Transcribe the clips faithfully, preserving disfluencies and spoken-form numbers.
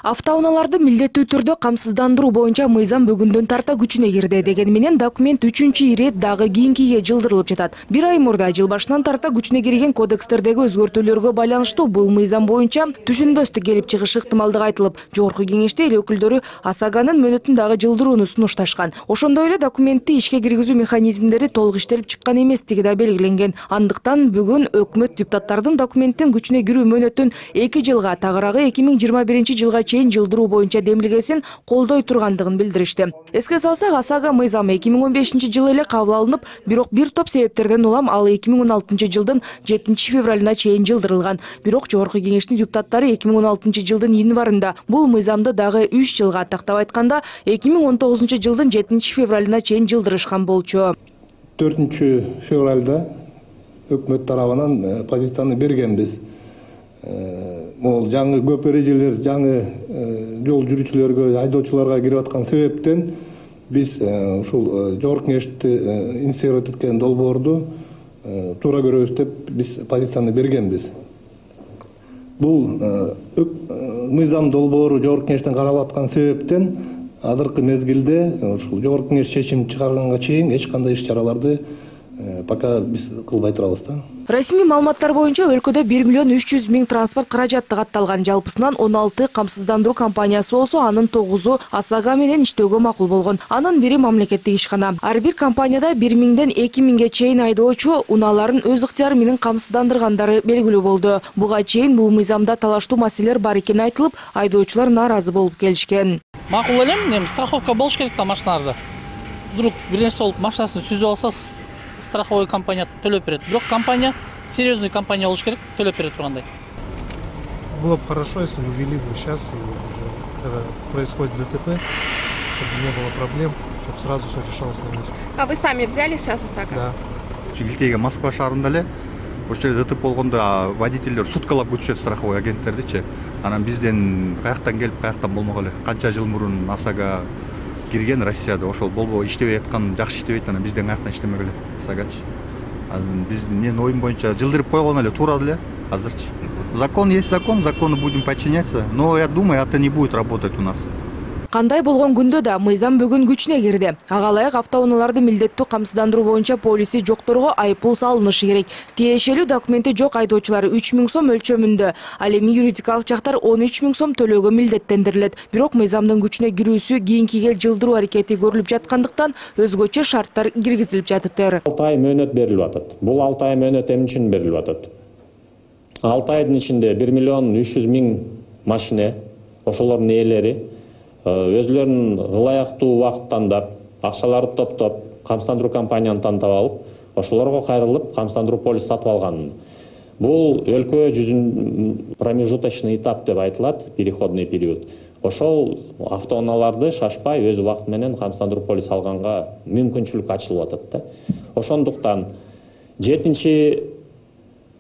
Автоунааларды милдеттүү түрдө камсыздандыруу боюнча мыйзам бүгүндөн тарта күчүнө кирди. Дегени менен документ үчүнчү ирет дагы кийинкиге жылдырылып жатат. Бир ай мурда жыл башынан тарта күчүнө кирген кодекстердеги өзгөртүүлөргө байланыштуу бул мыйзам боюнча түшүнбөстүк келип чыгышы ыктымалдыгы айтылып, жогорку кеңеште эл өкүлдөрү АСАГанын мөөнөтүн дагы жылдырууну сунушташкан. Ошондой эле документти ишке киргизүү механизмдери толук иштелип чыккан эместиги да белгиленген. Андыктан бүгүн өкмөт депутаттардын документтин күчүнө кирүү мөөнөтүн эки жылга, тагыраагы эки миң жыйырма биринчи жылга жылдыруу боюнча демилгесин колдой тургандыгын билдиришти. Эске салсак, АСАГа мыйзамы эки миң он бешинчи жылы эле кабыл алынып, бирок бир топ себептерден улам ал эки миң он алтынчы жылдын жетинчи февралына чейин жылдырылган. Бирок жогорку кеңештин депутаттары эки миң он алтынчы жылдын январында бул мыйзамды дагы үч жылга, тактап айтканда эки миң он тогузунчу жылдын жетинчи февралына чейин жылдырышкан болчу. төртүнчү февралда өкмөт тарабынан позицияны бергенбиз. Мол жаңы көп эрежелер жаңы жол жүрүүчүлөргө, айдоочуларга кирип аткан себептен биз ушул жогорку кеңешти инициировать эткен долбоорду туура көрөбүз деп биз позицияны бергенбиз. Бул мыйзам долбоору жогорку кеңештен каралып аткан себептен азыркы мезгилде ушул жогорку кеңеш чечим чыгарганга чейин эч кандай иш чараларды пока биз кылбай турабыз да. Расмий маалыматтар боюнча өлкөдө бир миллион үч жүз миң транспорт каражаты катталган. Жалпысынан он алты камсыздандыруу компаниясы болсо, анын тогузу АСАГа менен иштөөгө макул болгон. Анын бири мамлекеттик ишкана. Ар бир компанияда бир миңден эки миңге чейин айдоочу унааларын өз ыктыяры менен камсыздандыргандары белгилүү болду. Буга чейин бул мыйзамда талаштуу маселелер бар экени айтылып, айдоочулар нааразы болуп келишкен. Макул элем, эми страховка болуш керек да машиналарда. Вдруг бир нерсе болуп машинасын сүзүп алсаңыз, страховой компания төлөп берет. Бирок компания, серьезный компания болуш керек, төлөп берет тургандай. Было бы хорошо, если бы ввели бы сейчас, и уже, когда происходит ДТП, чтобы не было проблем, чтобы сразу все решалось на месте. А вы сами взяли сейчас ОСАГО? Да. Чигилтеге Москва шаарында эле ошол жерде ДТП болгондо водительдер суткалап күтүшөт страховой агенттердичи. Анан бизден каяктан келип, каяктан болмок эле. Канча жыл мурун АСАГа кирген Россияда, ошол болбо иштебей аткан, жакшы иштебейт, анан бизден каяктан иштемек эле АСАГачы. Биз менин оюм боюнча жылдырып койгон эле туура эле азырчы. Закон есть закон, закону будем подчиняться, но я думаю, это не будет работать у нас. Кандай болгон күндө да мыйзам бүгүн күчүнө кирди. Ага ылайык автоунааларды милдеттүү камсыздандыруу боюнча полиси жокторго айыппул салынышы керек. Тиешелүү документи жок айдоочулар үч миң сом өлчөмүндө, ал эми юридикалык жактар он үч миң сом төлөөгө милдеттендирилет. Бирок мыйзамдын күчүнө кирүүсү кийинкиге жылдыруу аракети көрүлүп жаткандыктан өзгөчө шарттар киргизилип жатыптыр. алты ай мөөнөт берилип атат. Бул алты ай мөөнөт эмне үчүн берилип атат? алты айдын ичинде бир миллион үч жүз миң машина, ошолордун ээлери өзлөрүнүн ылайыктуу убакыт тандап, акчаларды топтоп, камсыздандыруу компанияны тандап алып, ошолорго кайрылып, камсыздандыруу полис сатып алган. Бул өлкө жүзүн промежуточный этап деп айтылат, переходный период. Ошол автоунааларды шашпай өз убакыты менен камсыздандыруу полис алганга мүмкүнчүлүк ачылып атат да. Ошондуктан жетинчи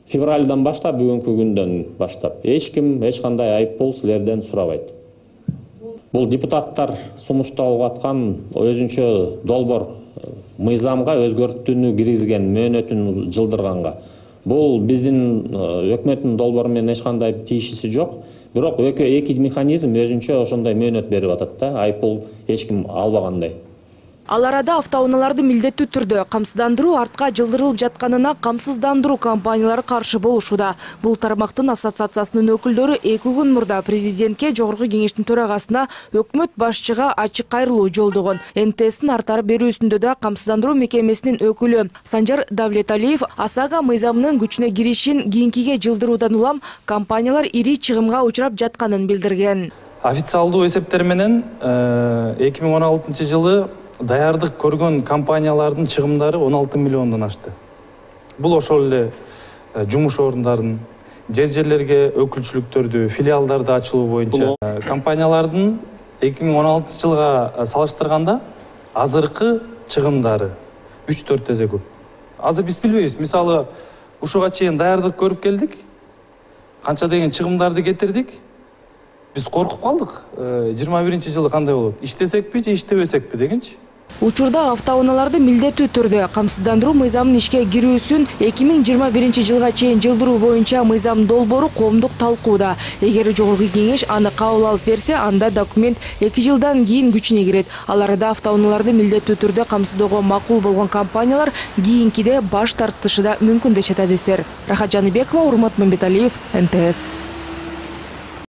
февралдан баштап, бүгүнкү күндөн баштап эч ким эч кандай айыппул силерден сурабайт. Бул депутаттар сунушталып аткан өзүнчө долбоор мыйзамга өзгөртүүнү киргизген, мөөнөтүн жылдырганга. Бул биздин өкмөттүн долбоору менен эч кандай тийишиси жок. Бирок эки механизм өзүнчө ошондой мөөнөт берип атат да, айыппул эч ким албагандай. Ал арада автоунааларды милдеттүү түрдө камсыздандыруу артка жылдырылып жатканына камсыздандыруу компаниялары каршы болушуда. Бул тармактын ассоциациясынын өкүлдөрү эки күн мурда президентке, жогорку кеңештин төрагасына, өкмөт башчыга ачык кайрылуу жолдогон. эн тэ эстин артары берүүсүндө да камсыздандыруу мекемесинин өкүлү Санжар Давлеталиев АСАГа мыйзамынын күчүнө киришин кийинкиге жылдыруудан улам компаниялар ири чыгымга учурап жатканын билдирген. Официалдуу эсептер менен эки миң он алтынчы жылы даярдык көргөн компаниялардын чыгымдары он алты миллиондон ашты. Бул ошол эле жумуш орундарын, жер жерлерге өкүлчүлүктөрдү, филиалдарды ачылуу боюнча компаниялардын эки миң он алтынчы жылга салыштырганда азыркы чыгымдары үч төрт эсе көп. Азыр биз билбейбиз. Мисалы, ушуга чейин даярдык көрүп келдик. Канча деген чыгымдарды кетирдик. Биз коркуп калдык. жыйырма биринчи жылы кандай болот? Иштесекпи же иштебесекпи дегенчи. Учурда автоунааларды милдеттүү түрдө камсыздандыруу мыйзамынын ишке кирүүсүн эки миң жыйырма биринчи жылга чейин жылдыруу боюнча мыйзам долбоору коомдук талкууда. Эгер Жогорку Кеңеш аны кабыл алып берсе, анда документ эки жылдан кийин күчүнө кирет. Ал арада автоунааларды милдеттүү түрдө камсыздоого макул болгон компаниялар кийинкиде баш тартышы да мүмкүн дешет адистер. Рахат Жаныбекова, Урмат Мамбеталиев, эн тэ эс.